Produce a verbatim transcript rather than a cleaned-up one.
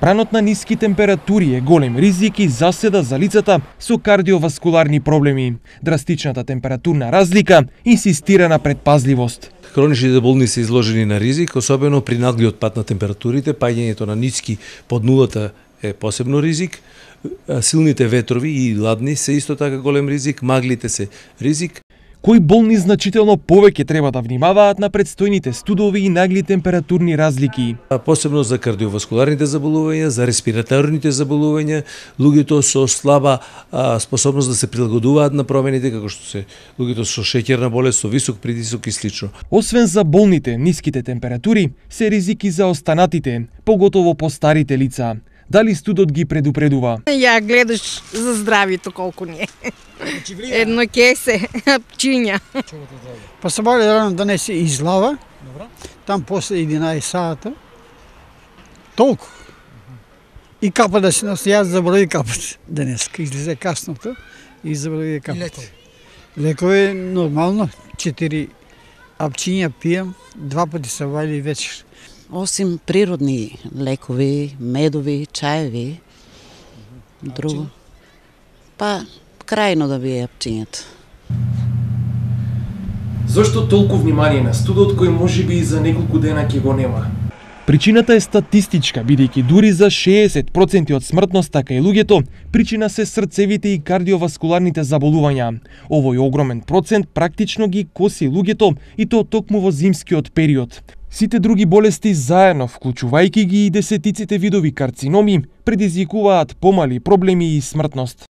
Бранот на ниски температури е голем ризик и заседа за лицата со кардиоваскуларни проблеми. Драстичната температурна разлика инсистира на предпазливост. Хроничните болни се изложени на ризик, особено при наглиот пад на температурите, паѓањето на ниски под нулата е посебно ризик. Силните ветрови и ладни се исто така голем ризик, маглите се ризик. Кои болни значително повеќе треба да внимаваат на предстојните студови и нагли температурни разлики? Посебно за кардиоваскуларните заболувања, за респираторните заболувања, луѓето со слаба а, способност да се прилагодуваат на промените, како што се луѓето со шеќерна болест, со висок притисок и слично. Освен за болните, ниските температури се ризики за останатите, поготово по старите лица. Дали студот ги предупредува? Ја гледаш за здравието колку не е. Едно кесе, апчиња. Па се бали рано да не се излава. Там после единаесет сата. Толку. И капа да се носи, јас забрави капат. Денеска излезе касното и забрави капат. Лекови нормално, четири апчиња пијам, два пати се вали вечер. Осим природни лекови, медови, чаеви, друго. Па, крајно да бие апчињата. Зошто толку внимание на студот кој можеби и за неколку дена ќе го нема? Причината е статистичка, бидејќи дури за шеесет проценти од смртноста кај луѓето, причина се срцевите и кардиоваскуларните заболувања. Овој огромен процент практично ги коси луѓето и то токму во зимскиот период. Сите други болести заедно, вклучувајќи ги и десетиците видови карциноми, предизвикуваат помали проблеми и смртност.